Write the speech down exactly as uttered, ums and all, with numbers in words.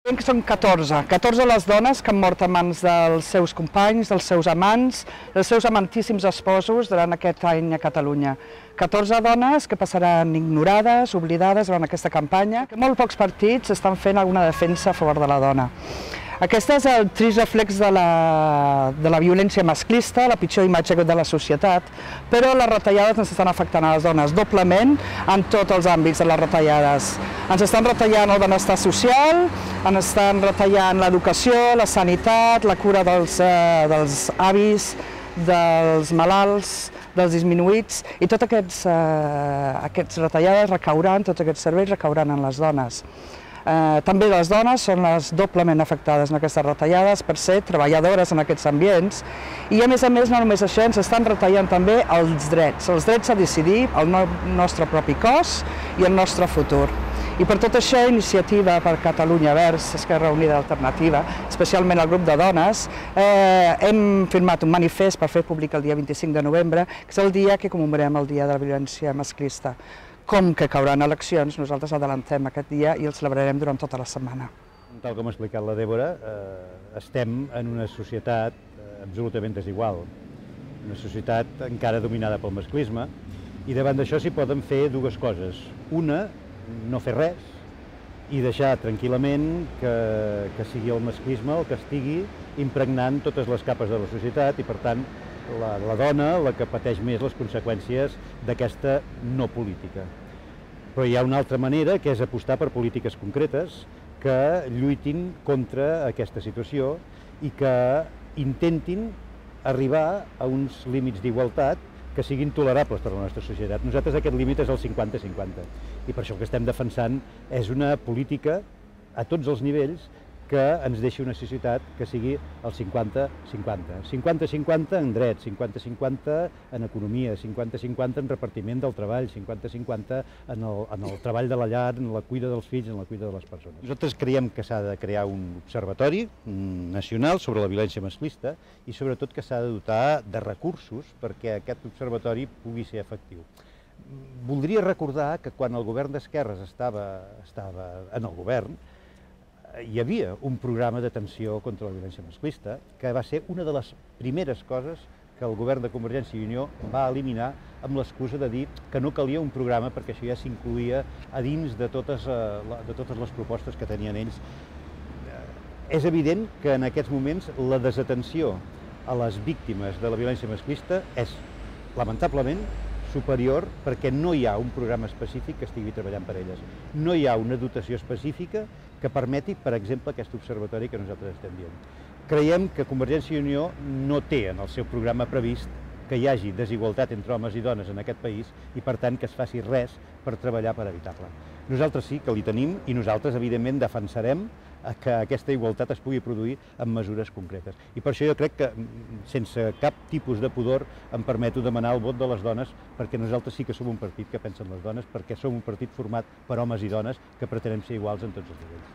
Que són catorze, catorze les dones que han mort a mans dels seus companys, dels seus amants, dels seus amantíssims esposos durant aquest any a Catalunya. catorze dones que passaran ignorades, oblidades durant aquesta campanya. Molt pocs partits estan fent alguna defensa a favor de la dona. Aquest és el trist reflex de la, de la violència masclista, la pitjor imatge de la societat, però les retallades ens estan afectant a les dones doblement en tots els àmbits de les retallades. Ens estan retallant el benestar social, ens estan retallant l'educació, la sanitat, la cura dels, eh, dels avis, dels malalts, dels disminuïts, i totes aquestes, eh, aquestes retallades recauran, tots aquests serveis recauran en les dones. Eh, també les dones són les doblement afectades en aquestes retallades per ser treballadores en aquests ambients i a més a més no només això, ens estan retallant també els drets, els drets a decidir el no, nostre propi cos i el nostre futur. I per tot això, Iniciativa per Catalunya Verds, Esquerra Unida Alternativa, especialment el grup de dones, eh, hem firmat un manifest per fer públic el dia vint-i-cinc de novembre, que és el dia que commemorem el Dia de la Violència Masclista. Com que cauran eleccions, nosaltres adelantem aquest dia i el celebrarem durant tota la setmana. Tal com ha explicat la Dèbora, eh, estem en una societat eh, absolutament desigual, una societat encara dominada pel masclisme, i davant d'això s'hi poden fer dues coses. Una, no fer res i deixar tranquil·lament que, que sigui el masclisme el que estigui impregnant totes les capes de la societat i, per tant, La, la dona la que pateix més les conseqüències d'aquesta no política. Però hi ha una altra manera, que és apostar per polítiques concretes que lluitin contra aquesta situació i que intentin arribar a uns límits d'igualtat que siguin tolerables per a la nostra societat. Nosaltres aquest límit és el cinquanta cinquanta i per això el que estem defensant és una política a tots els nivells que ens deixi una societat que sigui el cinquanta cinquanta. cinquanta cinquanta en drets, cinquanta cinquanta en economia, cinquanta cinquanta en repartiment del treball, cinquanta cinquanta en el, en el treball de la llar, en la cuida dels fills, en la cuida de les persones. Nosaltres creiem que s'ha de crear un observatori nacional sobre la violència masclista i sobretot que s'ha de dotar de recursos perquè aquest observatori pugui ser efectiu. Voldria recordar que quan el govern d'esquerres estava, estava en el govern, hi havia un programa d'atenció contra la violència masclista que va ser una de les primeres coses que el govern de Convergència i Unió va eliminar amb l'excusa de dir que no calia un programa perquè això ja s'incluïa a dins de totes, de totes les propostes que tenien ells. És evident que en aquests moments la desatenció a les víctimes de la violència masclista és, lamentablement, superior perquè no hi ha un programa específic que estigui treballant per elles. No hi ha una dotació específica que permeti, per exemple, aquest observatori que nosaltres estem dient. Creiem que Convergència i Unió no té en el seu programa previst que hi hagi desigualtat entre homes i dones en aquest país i, per tant, que es faci res per treballar per evitar-la. Nosaltres sí que li tenim i nosaltres, evidentment, defensarem que aquesta igualtat es pugui produir amb mesures concretes. I per això jo crec que, sense cap tipus de pudor, em permeto demanar el vot de les dones, perquè nosaltres sí que som un partit que pensa en les dones, perquè som un partit format per homes i dones que pretenem ser iguals en tots els nivells.